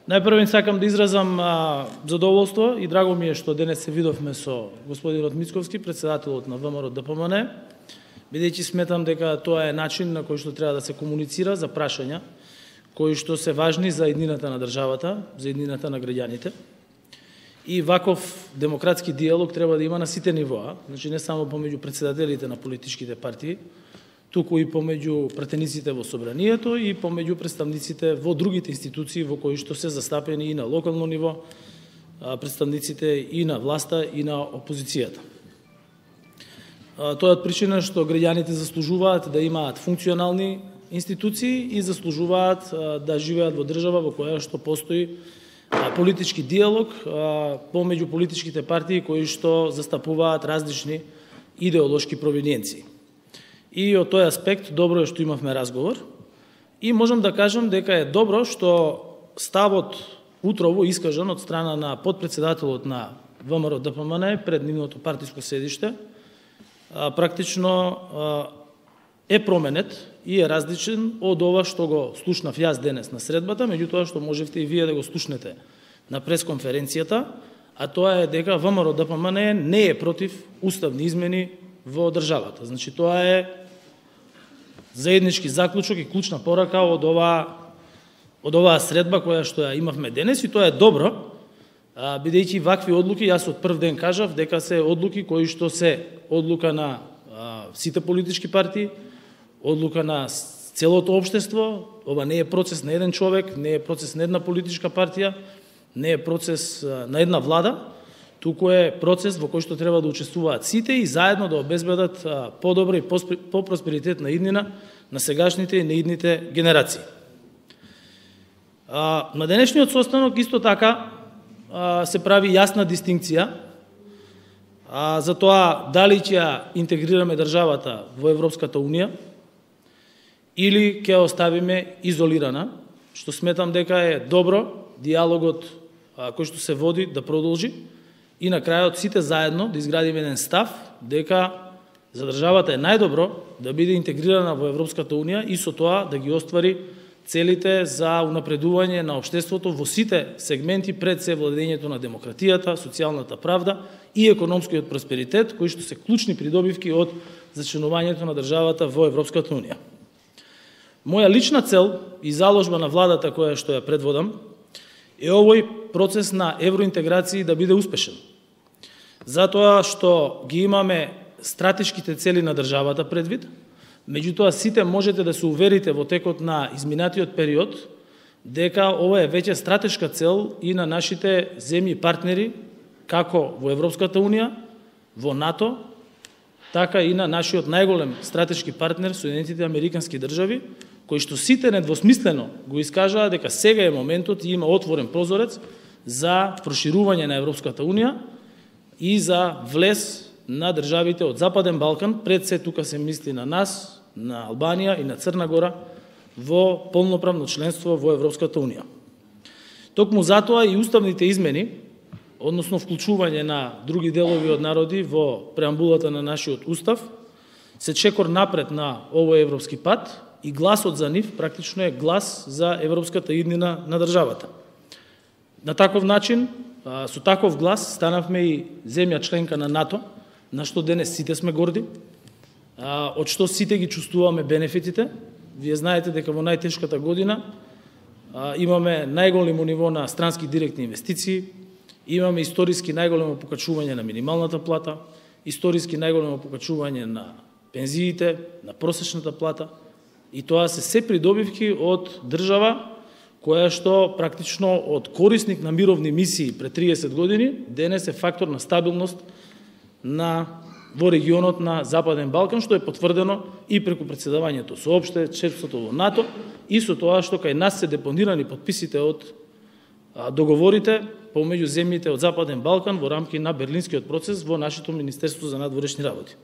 Најпрво сакам да изразам задоволство и драго ми е што денес се видовме со господинот Мицковски, председателот на ВМРО ДПМН, бидејќи сметам дека тоа е начин на кој што треба да се комуницира за прашања кои што се важни за еднината на државата, за еднината на граѓаните. И ваков демократски диалог треба да има на сите нивоа, значи не само помеѓу председателите на политичките партии, туку и помеѓу пратениците во собранието и помеѓу представниците во другите институции во кои што се застапени и на локално ниво, представниците и на власта и на опозицијата. Тоа е причина што граѓаните заслужуваат да имаат функционални институции и заслужуваат да живеат во држава во која што постои политички диалог помеѓу политичките партии кои што застапуваат различни идеолошки провиниенции. И од тој аспект добро е што имавме разговор и можам да кажам дека е добро што ставот утрово искажан од страна на подпредседателот на ВМРО ДПМН пред нивното партиско седиште практично е променет и е различен од ова што го слушнав јас денес на средбата, меѓутоа што можевте и вие да го слушнете на пресконференцијата, а тоа е дека ВМРО ДПМН не е против уставни измени во државата. Значи тоа е заеднички заклучок и клучна порака од оваа средба која што ја имавме денес, и тоа е добро, бидејќи вакви одлуки, јас од прв ден кажав дека се одлуки кои што се одлука на сите политички партии, одлука на целото општество. Ова не е процес на еден човек, не е процес на една политичка партија, не е процес на една влада, туку е процес во кој што треба да учествуваат сите и заедно да обезбедат подобра и попросперитетна иднина на сегашните и наидните генерации. На денешниот состанок исто така се прави јасна дистинкција за тоа дали ќе ја интегрираме државата во Европската Унија или ќе оставиме изолирана, што сметам дека е добро диалогот кој што се води да продолжи и на крајот сите заедно да изградиме еден став дека за државата е најдобро да биде интегрирана во Европската Унија и со тоа да ги оствари целите за унапредување на општеството во сите сегменти, пред се владењето на демократијата, социјалната правда и економскиот просперитет, кои што се клучни придобивки од зачленувањето на државата во Европската Унија. Моја лична цел и заложба на владата која што ја предводам е овој процес на евроинтеграција да биде успешен. Затоа што ги имаме стратешките цели на државата предвид, меѓутоа сите можете да се уверите во текот на изминатиот период дека ова е веќе стратешка цел и на нашите земји партнери, како во Европската Унија, во НАТО, така и на нашиот најголем стратешки партнер, Соединетите Американски држави, кои што сите недвосмислено го искажаа дека сега е моментот и има отворен прозорец за проширување на Европската Унија и за влез на државите од Западен Балкан, пред се тука се мисли на нас, на Албанија и на Црна Гора, во полноправно членство во Европската Унија. Токму затоа и уставните измени, односно вклучување на други делови од народи во преамбулата на нашиот устав, се чекор напред на овој европски пат и гласот за нив практично е глас за европската иднина на државата. На таков начин, со таков глас, станавме и земја членка на НАТО, на што денес сите сме горди, од што сите ги чувствуваме бенефитите. Вие знаете дека во најтешката година имаме најголемо ниво на странски директни инвестиции, имаме историски најголемо покачување на минималната плата, историски најголемо покачување на пензиите, на просечната плата, и тоа се придобивки од држава која што практично од корисник на мировни мисии пред 30 години денес е фактор на стабилност во регионот на Западен Балкан, што е потврдено и преку председавањето со опште членството во НАТО и со тоа што кај нас се депонирани подписите од договорите помеѓу земјите од Западен Балкан во рамки на Берлинскиот процес во нашето Министерство за надворешни работи.